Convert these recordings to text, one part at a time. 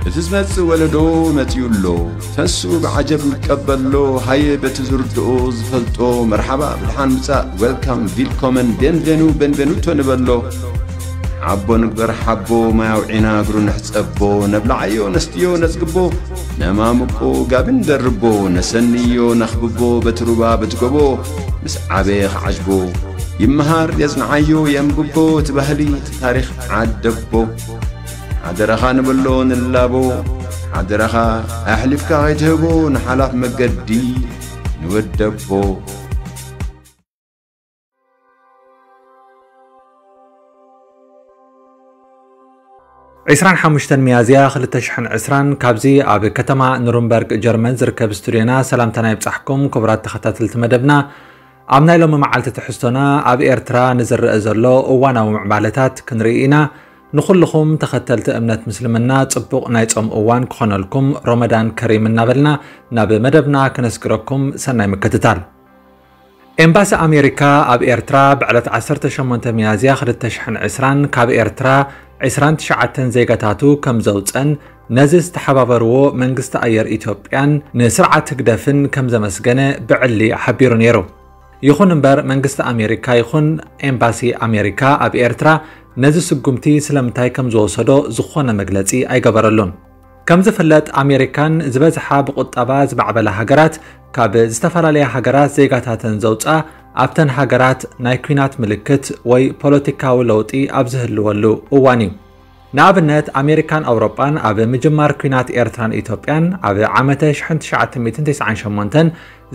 እቲ ዝመጽእ ወለዶ መጺኡ ኣሎ። ተሱ ብዓጀብ ይቀበሎ። ሃየ በቲ ዝርድኦ ዝፈልጦ መርሓባ ብድሓን ምጻእ፣ ዌልካም፣ ቪልኮመን፣ ቤንቬኑ፣ ቤንቬኑቶ ንበሎ። ሓቦ ንግበር ሓቦ፣ ማይ ኣውዒና እግሩ ንሕጸቦ። ነብልዓዮ ነስትዮ ነጽግቦ፣ ነማምቆ ጋቢ ንደርቦ። ነሰንዮ ነኽብቦ በቲ ሩባ በቲ ጎቦ፣ ምስ ዓበየ ክዓጅቦ። ይመሃር የጽንዓዮ የንብቦ፣ እቲ ባህሊ እቲ ታሪኽ ዓደቦ። ሓደራኻ ንብሎ ንላቦ፣ ሓደራኻ ኣሕሊፍካ ከይትህቦ ንሓላፍ መገዲ ንወደቦ። ዕስራን ሓሙሽተን ሚያዝያ ክልተ ሽሕን ዕስራን ካብዚ ኣብ ከተማ ኑርንበርግ ጀርመን ዝርከብ ስቱድዮና ሰላምታና ይብጻሕኩም ክቡራት ተኸታተልቲ መደብና። ኣብ ናይ ሎሚ መዓልቲ ትሕዝቶና ኣብ ኤርትራ ንዝረአ ዘሎ እዋናዊ ምዕባለታት ክንርኢ ኢና። ንኹልኹም ተኸተልቲ እምነት ምስልምና ጽቡቕ ናይ ጾም እዋን ክኾነልኩም ሮመዳን ከሪም እናበልና ናብ መደብና ክነስግረኩም ሰናይ ምክትታል። ኤምባሲ ኣሜሪካ ኣብ ኤርትራ ብዕለት ዓሰርተ ሸሞንተ ሚያዝያ ክልተ ሽሕን ዕስራን ካብ ኤርትራ ዕስራን ትሽዓተን ዜጋታቱ ከም ዘውጸን ነዚ ዝተሓባበርዎ መንግስቲ ኣየር ኢትዮጵያን ንስርዓት ህግደፍን ከም ዘመስገነ ብዕሊ ሓቢሩ ነይሩ። ይኹን እምበር መንግስቲ ኣሜሪካ ይኹን ኤምባሲ ኣሜሪካ ኣብ ኤርትራ ነዚ ስጉምቲ ስለምንታይ ከም ዝወሰዶ ዝኾነ መግለጺ ኣይገበረሉን። ከም ዝፍለጥ ኣሜሪካን ዝበዝሓ ብቁጠባ ዝማዕበላ ሃገራት ካብ ዝተፈላለያ ሃገራት ዜጋታተን ዘውፅኣ ኣብተን ሃገራት ናይ ኲናት ምልክት ወይ ፖለቲካዊ ለውጢ ኣብ ዝህልወሉ እዋን እዩ። ንኣብነት ኣሜሪካን ኣውሮጳን ኣብ ምጅማር ኲናት ኤርትራን ኢትዮጵያን ኣብ ዓመተ ሽሕን ትሽዓተ ሚእትን ተስዓን ሸሞንተን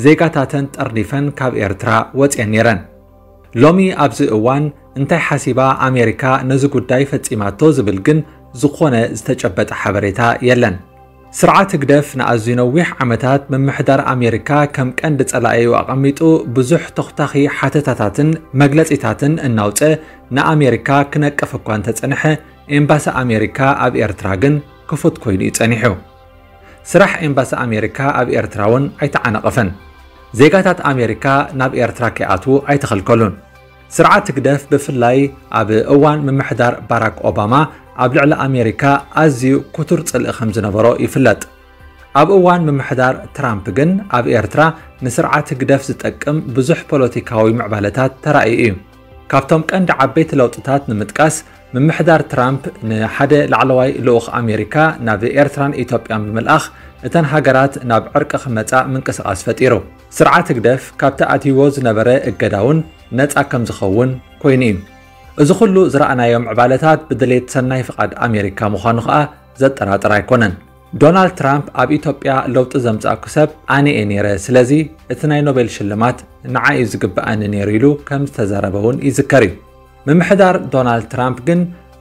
ዜጋታተን ጠርኒፈን ካብ ኤርትራ ወፅየን ነይረን። ሎሚ ኣብዚ እዋን እንታይ ሓሲባ ኣሜሪካ ነዚ ጉዳይ ፈጺማቶ ዝብል ግን ዝኾነ ዝተጨበጠ ሓበሬታ የለን። ስርዓት ህግደፍ ንኣዝዩ ነዊሕ ዓመታት ምምሕዳር ኣሜሪካ ከም ቀንዲ ጸላኢኡ ኣቐሚጡ ብዙሕ ተኹታኺ ሓተታታትን መግለጺታትን እናውጸ ንኣሜሪካ ክነቅፍ እኳ እንተጸንሐ ኤምባሲ ኣሜሪካ ኣብ ኤርትራ ግን ክፉት ኮይኑ እዩ ጸኒሑ። ስራሕ ኤምባሲ ኣሜሪካ ኣብ ኤርትራ እውን ኣይተዓናቐፈን። ዜጋታት ኣሜሪካ ናብ ኤርትራ ከይኣትዉ ኣይተኸልከሉን። ስርዓት ህግደፍ ብፍላይ ኣብ እዋን ምምሕዳር ባራክ ኦባማ ኣብ ልዕሊ ኣሜሪካ ኣዝዩ ክቱር ጽልኢ ከም ዝነበሮ ይፍለጥ። ኣብ እዋን ምምሕዳር ትራምፕ ግን ኣብ ኤርትራ ንስርዓት ህግደፍ ዝጠቅም ብዙሕ ፖለቲካዊ ምዕባለታት ተራእዩ እዩ። ካብቶም ቀንዲ ዓበይቲ ለውጥታት ንምጥቃስ፣ ምምሕዳር ትራምፕ ንሓደ ላዕለዋይ ልኡኽ ኣሜሪካ ናብ ኤርትራን ኢትዮጵያን ብምልኣኽ እተን ሃገራት ናብ ዕርቂ ክመጻ ምንቅስቓስ ፈጢሩ። ስርዓት ህግደፍ ካብቲ ኣትይዎ ዝነበረ እገዳ እውን ነጻ ከም ዝኸውን ኮይኑ እዩ። እዚ ኩሉ ዝረኣናዮ ምዕባለታት ብድሌት ሰናይ ፍቓድ ኣሜሪካ ምዃኑ ከኣ ዘጠራጥር ኣይኮነን። ዶናልድ ትራምፕ ኣብ ኢትዮጵያ ለውጢ ዘምጻእኩ ሰብ ኣነ እየ ነይረ፣ ስለዚ እቲ ናይ ኖቤል ሽልማት ንዓይ እዩ ዝግብኣኒ ነይሩ ኢሉ ከም ዝተዛረበ እውን ይዝከር እዩ። ምምሕዳር ዶናልድ ትራምፕ ግን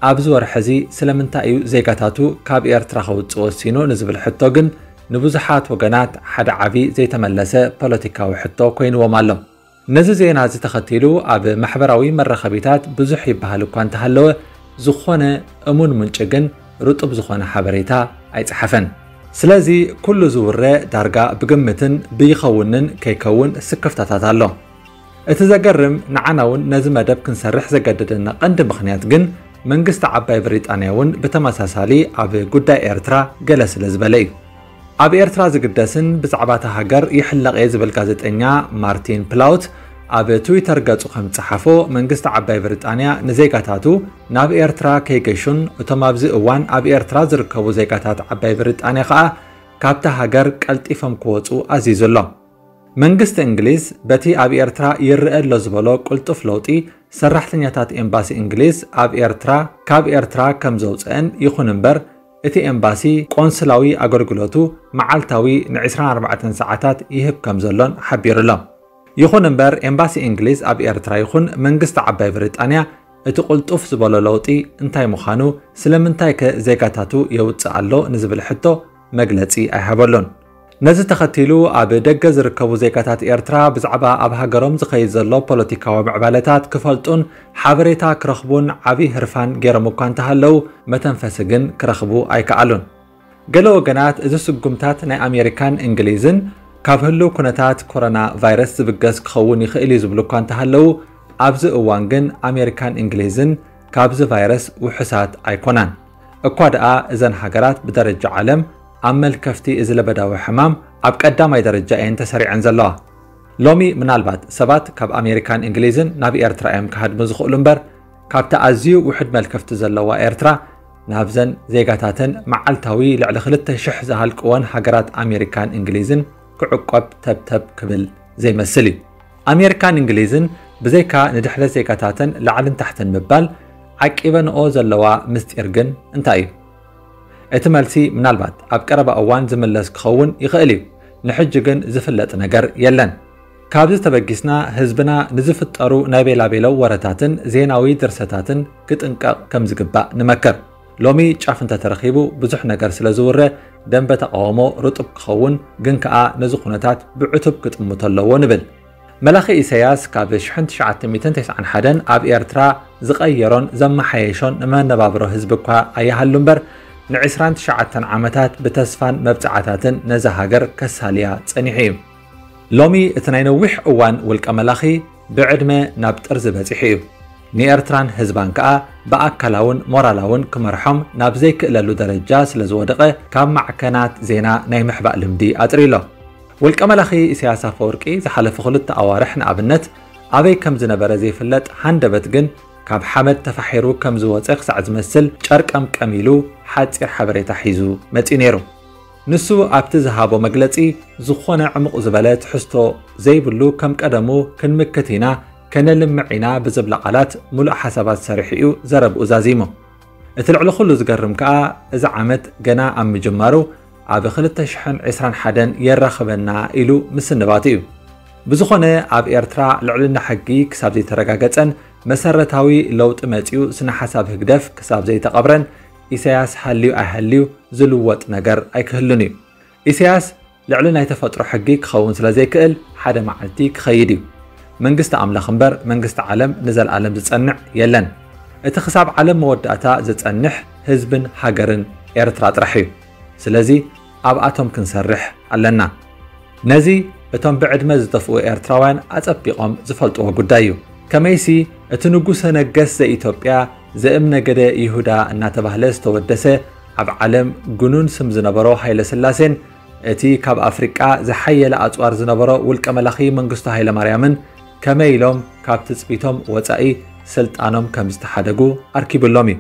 ኣብዚ ወርሒ እዚ ስለምንታይ እዩ ዜጋታቱ ካብ ኤርትራ ከውጽእ ወሲኑ ንዝብል ሕቶ ግን ንብዙሓት ወገናት ሓደ ዓቢ ዘይተመለሰ ፖለቲካዊ ሕቶ ኮይንዎም ኣሎ። ነዚ ዜና እዚ ተኸቲሉ ኣብ ማሕበራዊ መራኸቢታት ብዙሕ ይበሃል እኳ እንተሃለወ፣ ዝኾነ እሙን ምንጪ ግን ርጡብ ዝኾነ ሓበሬታ ኣይጸሓፈን። ስለዚ ኩሉ ዝውረ ዳርጋ ብግምትን ብይኸውንን ከይከውን ስክፍታታት ኣሎ። እቲ ዘገርም ንዓና እውን ነዚ መደብ ክንሰርሕ ዘገደደና ቀንዲ ምኽንያት ግን መንግስቲ ዓባይ ብሪጣንያ እውን ብተመሳሳሊ ኣብ ጉዳይ ኤርትራ ገለ ስለ ዝበለ እዩ። ኣብ ኤርትራ ዝግደስን ብዛዕባ እታ ሃገር ይሕለቕ እየ ዝብል ጋዜጠኛ ማርቲን ፕላውት ኣብ ትዊተር ገጹ ከም ዝጸሓፎ መንግስቲ ዓባይ ብሪጣንያ ንዜጋታቱ ናብ ኤርትራ ከይገሹን እቶም ኣብዚ እዋን ኣብ ኤርትራ ዝርከቡ ዜጋታት ዓባይ ብሪጣንያ ከኣ ካብታ ሃገር ቀልጢፎም ክወጹ ኣዚዙ ኣሎ። መንግስቲ እንግሊዝ በቲ ኣብ ኤርትራ ይረአ ኣሎ ዝበሎ ቅልጡፍ ለውጢ ሰራሕተኛታት ኤምባሲ እንግሊዝ ኣብ ኤርትራ ካብ ኤርትራ ከም ዘውፅአን ይኹን እምበር እቲ ኤምባሲ ቆንስላዊ ኣገልግሎቱ መዓልታዊ ን ዕስራን ኣርባዕተን ሰዓታት ይህብ ከም ዘሎን ሓቢሩ ኣሎ። ይኹን እምበር ኤምባሲ እንግሊዝ ኣብ ኤርትራ ይኹን መንግስቲ ዓባይ ብሪጣንያ እቲ ቅልጡፍ ዝበሎ ለውጢ እንታይ ምዃኑ ስለምንታይ ከ ዜጋታቱ የውፅእ ኣሎ ንዝብል ሕቶ መግለፂ ኣይሃበሉን። ነዚ ተኸቲሉ ኣብ ደገ ዝርከቡ ዜጋታት ኤርትራ ብዛዕባ ኣብ ሃገሮም ዝኸይድ ዘሎ ፖለቲካዊ ምዕባለታት ክፈልጡን ሓበሬታ ክረኽቡን ዓብዪ ህርፋን ገይሮም እኳ እንተሃለዉ መተንፈሲ ግን ክረኽቡ ኣይከኣሉን። ገለ ወገናት እዚ ስጉምታት ናይ ኣሜሪካን እንግሊዝን ካብ ህሉው ኩነታት ኮሮና ቫይረስ ዝብገስ ክኸውን ይኽእል እዩ ዝብሉ እኳ እንተሃለዉ ኣብዚ እዋን ግን ኣሜሪካን እንግሊዝን ካብዚ ቫይረስ ውሑሳት ኣይኮናን። እኳ ደኣ እዘን ሃገራት ብደረጃ ዓለም ኣብ መልከፍቲ እዚ ለበዳዊ ሕማም ኣብ ቀዳማይ ደረጃ እየን ተሰሪዐን ዘለዋ። ሎሚ ምናልባት ሰባት ካብ ኣሜሪካን እንግሊዝን ናብ ኤርትራ እዮም ክሃድሙ ዝኽእሉ እምበር፣ ካብቲ ኣዝዩ ውሑድ መልከፍቲ ዘለዋ ኤርትራ ናብዘን ዜጋታተን መዓልታዊ ልዕሊ ክልተ ሽሕ ዝሃልቅወን ሃገራት ኣሜሪካን እንግሊዝን ክዕቆብ ተብተብ ክብል ዘይመስል እዩ። ኣሜሪካን እንግሊዝን ብዘይካ ንድሕረት ዜጋታተን ላዕልን ታሕትን ምባል ዓቂበንኦ ዘለዋ ምስጢር ግን እንታይ እዩ? እቲ መልሲ ምናልባት ኣብ ቀረባ እዋን ዝምለስ ክኸውን ይኽእል እዩ። ንሕጂ ግን ዝፍለጥ ነገር የለን። ካብዚ ተበጊስና ህዝብና ንዝፍጠሩ ናይ ቤላቤለው ወረታትን ዜናዊ ድርሰታትን ክጥንቀቕ ከም ዝግባእ ንመክር። ሎሚ ጫፍ እንተተረኺቡ ብዙሕ ነገር ስለ ዝውረ ደንበ ተቃውሞ ርጡብ ክኸውን ግን ከኣ ነዚ ኩነታት ብዕቱብ ክጥምቶ ኣለዎ ንብል። መላኺ ኢሳያስ ካብ ሽሕን ትሽዓተ ሚእትን ተስዓን ሓደን ኣብ ኤርትራ ዝቐየሮን ዘመሓየሾን ንመነባብሮ ህዝቢ እኳ ኣይሃሉ እምበር ንዕስራን ትሽዓተን ዓመታት ብተስፋን መብጽዓታትን ነዛ ሃገር ከሳልያ ጸኒሑ እዩ። ሎሚ እቲ ናይ ነዊሕ እዋን ውልቀ መላኺ ብዕድመ ናብ ጥርዚ በጺሑ እዩ። ንኤርትራን ህዝባን ከኣ ብኣካላውን ሞራላውን ክመርሖም ናብ ዘይክእለሉ ደረጃ ስለ ዝወደቐ ካብ ማዕከናት ዜና ናይ ምሕባእ ልምዲ ኣጥርዩ ኣሎ። ውልቀ መላኺ ኢሳያስ ኣፈወርቂ ዝሓለፉ ክልተ ኣዋርሕ ንኣብነት ኣበይ ከም ዝነበረ ዘይፍለጥ ሃንደበት ግን ካብ ሓመድ ተፋሒሩ ከም ዝወጸ ክሳዕ ዝመስል ጨርቀምቀም ኢሉ ሓጺር ሓበሬታ ሒዙ መጺኡ ነይሩ። ንሱ ኣብቲ ዝሃቦ መግለጺ ዝኾነ ዕሙቕ ዝበለ ትሕዝቶ ዘይብሉ ከም ቀደሙ ክንምክት ኢና ከነልምዕ ኢና ብዝብላ ቃላት ሙሉእ ሓሳባት ሰሪሑ እዩ ዘረብኡ ዛዚሙ። እቲ ልዕሊ ኩሉ ዝገርም ከኣ እዚ ዓመት ገና ኣብ ምጅማሩ ኣብ ክልተ ሽሕን ዕስራን ሓደን የራኽበና ኢሉ ምስንባቱ እዩ። ብዝኾነ ኣብ ኤርትራ ልዕልና ሕጊ ክሳብ ዘይተረጋገጸን መሰረታዊ ለውጢ መጺኡ ስነ ሓሳብ ህግደፍ ክሳብ ዘይተቐብረን ኢሳያስ ሃልዩ ኣይሃልዩ ዝልወጥ ነገር ኣይክህሉን እዩ። ኢሳያስ ልዕሊ ናይ ተፈጥሮ ሕጊ ክኸውን ስለ ዘይክእል ሓደ መዓልቲ ክኸይድ እዩ። መንግስቲ ኣምላኽ እምበር መንግስቲ ዓለም ንዘለኣለም ዝጸንዕ የለን። እቲ ክሳብ ዓለም መወዳእታ ዝጸንሕ ህዝብን ሃገርን ኤርትራ ጥራሕ እዩ። ስለዚ ኣብኣቶም ክንሰርሕ ኣለና። ነዚ እቶም ብዕድመ ዝጠፍኡ ኤርትራውያን ኣጸቢቖም ዝፈልጥዎ ጉዳይ እዩ። ከመይሲ እቲ ንጉሰ ነገስ ዘኢትዮጵያ ዘእም ነገደ ይሁዳ እናተባህለ ዝተወደሰ ኣብ ዓለም ግኑን ስም ዝነበሮ ሃይለ ስላሴን እቲ ካብ ኣፍሪቃ ዝሓየለ ኣጽዋር ዝነበሮ ውልቀ መላኺ መንግስቱ ሃይለ ማርያምን ከመይ ኢሎም ካብ ትጽቢቶም ወጻኢ ስልጣኖም ከም ዝተሓደጉ ኣርኪብሎም እዩ።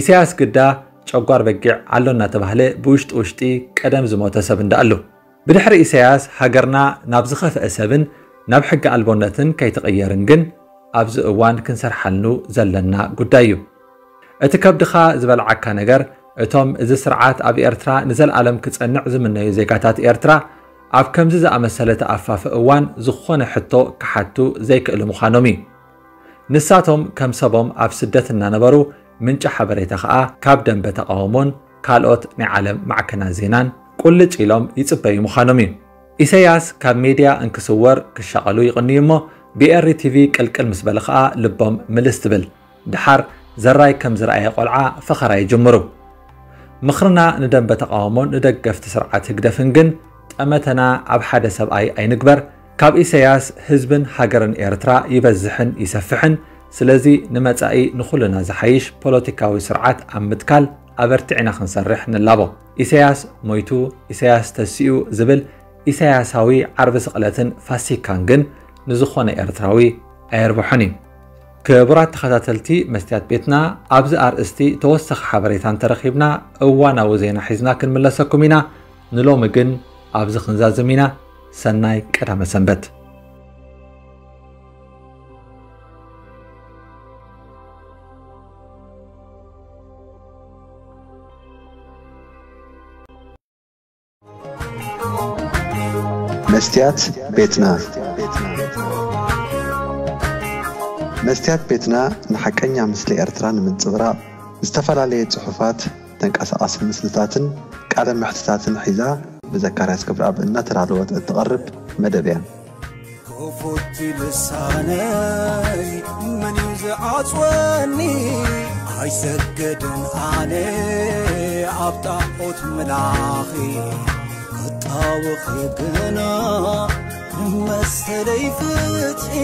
ኢሳያስ ግዳ ጨጓር በጊዕ ኣሎ እናተባህለ ብውሽጢ ውሽጢ ቀደም ዝሞተ ሰብ እንዳኣሉ። ብድሕሪ ኢሳያስ ሃገርና ናብ ዝኸፍአ ሰብን ናብ ሕጊ ኣልቦነትን ከይትቕየርን ግን ኣብዚ እዋን ክንሰርሓልኑ ዘለና ጉዳይ እዩ። እቲ ከብድኻ ዝበልዓካ ነገር እቶም እዚ ስርዓት ኣብ ኤርትራ ንዘለኣለም ክጸንዕ ዝምነዩ ዜጋታት ኤርትራ ኣብ ከምዚ ዝኣመሰለ ተኣፋፊ እዋን ዝኾነ ሕቶ ክሓቱ ዘይክእሉ ምዃኖም እዩ። ንሳቶም ከም ሰቦም ኣብ ስደት እናነበሩ ምንጪ ሓበሬታ ኸኣ ካብ ደንበ ተቓውሞን ካልኦት ናይ ዓለም ማዕከናት ዜናን ቁልጭ ኢሎም ይጽበዩ ምዃኖም እዩ። ኢሰያስ ካብ ሜድያ እንክስወር ክሻቐሉ ይቕንዩ እሞ ብኤሪ ቲቪ ቅልቅል ምስ በለ ኸኣ ልቦም ምልስ ትብል። ደሓር ዘራይ ከም ዝረኣየ ቆልዓ ፈኸራ ይጅምሩ። ምኽርና ንደንበ ተቓውሞን ንደገፍቲ ስርዓት ህግደፍን ግን ጠመተና ኣብ ሓደ ሰብኣይ ኣይንግበር። ካብ ኢሰያስ ህዝብን ሃገርን ኤርትራ ይበዝሕን ይሰፍሕን። ስለዚ ንመጻኢ ንኹልና ዝሓይሽ ፖለቲካዊ ስርዓት ኣብ ምትካል ኣበርቲዕና ክንሰርሕ ንላቦ። ኢሰያስ ሞይቱ፣ ኢሰያስ ተሲኡ ዝብል ኢሰያሳዊ ዓርቢ ስቕለትን ፋሲካን ግን ንዝኾነ ኤርትራዊ ኣየርብሖን እዩ። ክቡራት ተኸታተልቲ መስትያት ቤትና፣ ኣብዚ ኣርእስቲ ተወሳኺ ሓበሬታ እንተረኺብና እዋናዊ ዜና ሒዝና ክንምለሰኩም ኢና። ንሎሚ ግን ኣብዚ ክንዛዝም ኢና። ሰናይ ቀዳመ ሰንበት። መስትያት ቤትና። መስትያት ቤትና ንሓቀኛ ምስሊ ኤርትራ ንምንጽብራቕ ዝተፈላለየ ጽሑፋት፣ ተንቀሳቓሲ ምስልታትን ቃለ መሕትታትን ሒዛ ብዘካርያስ ክብረኣብ እናተዳለወት እትቐርብ መደብ እያ። ክፉት ልሳነይ መን እዩ ዝዓጽወኒ? ኣይሰግድን ኣነ ኣብ ጣዖት ምላኺ። ክጣወኺ ግና መሰለይ ፍትሒ።